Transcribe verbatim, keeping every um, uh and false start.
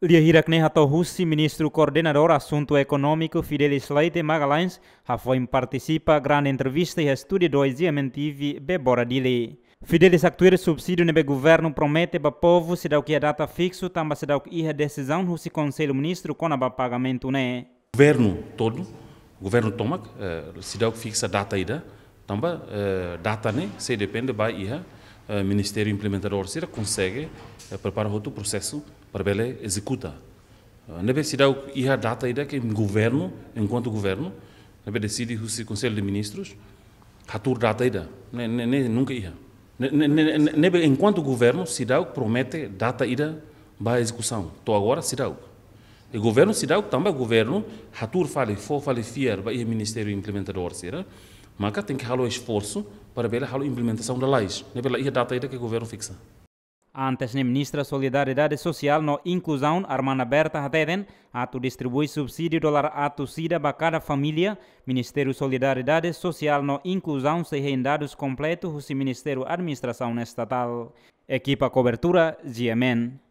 Lia hirak ne'e hato'o husi Ministru Koordenadór Asuntu Ekonómiku Fidelis Leite Magalhães, hafoin partisipa grande entrevista iha Estúdiu dois GMN TV Bebora Dili. Fidelis haktuir subsídiu ne'ebé governu promete ba povu seidauk iha data fiksu tanba seidauk iha desizaun husi Konsellu Ministru kona-ba pagamentu ne'e. Governu todo, governu tomak, eh, seidauk fiksa data ida, tanba, eh, data ne'e sei depende ba iha, eh, ministériu implementadór sira konsege, eh, prepara hotu prosesu para bele ezekuta. Eh, ne'ebé seidauk iha data ida ke governu, enkuantu governu, ne'ebé deside husi Konsellu de Ministrus, hatuur data ida. Ne'e, ne'e, ne'e nunka iha. Ne'e, ne'e, ne'e, ne'e, ne'ebé enkuantu governu seidauk promete data ida ba ezekusaun. To'o agora seidauk. I governu seidauk tanba governu hatuur fali, fó fali fiar ba iha ministériu implementadór sira, maka tenke halo esforsu para bele halo implementasaun lalais. Ne'ebé la iha data ida ke governu fiksa. Antes ne'e, Ministra Solidariedade Sosiál no Inkluzaun, Armanda Berta, hateten, atu distribui subsídiu dolar atus ida ba kada família, Ministériu Solidariedade Sosiál no Inkluzaun sei hein dadus kompletu husi Ministériu Administrasaun Estatál. Ekipa kobertura, GMN.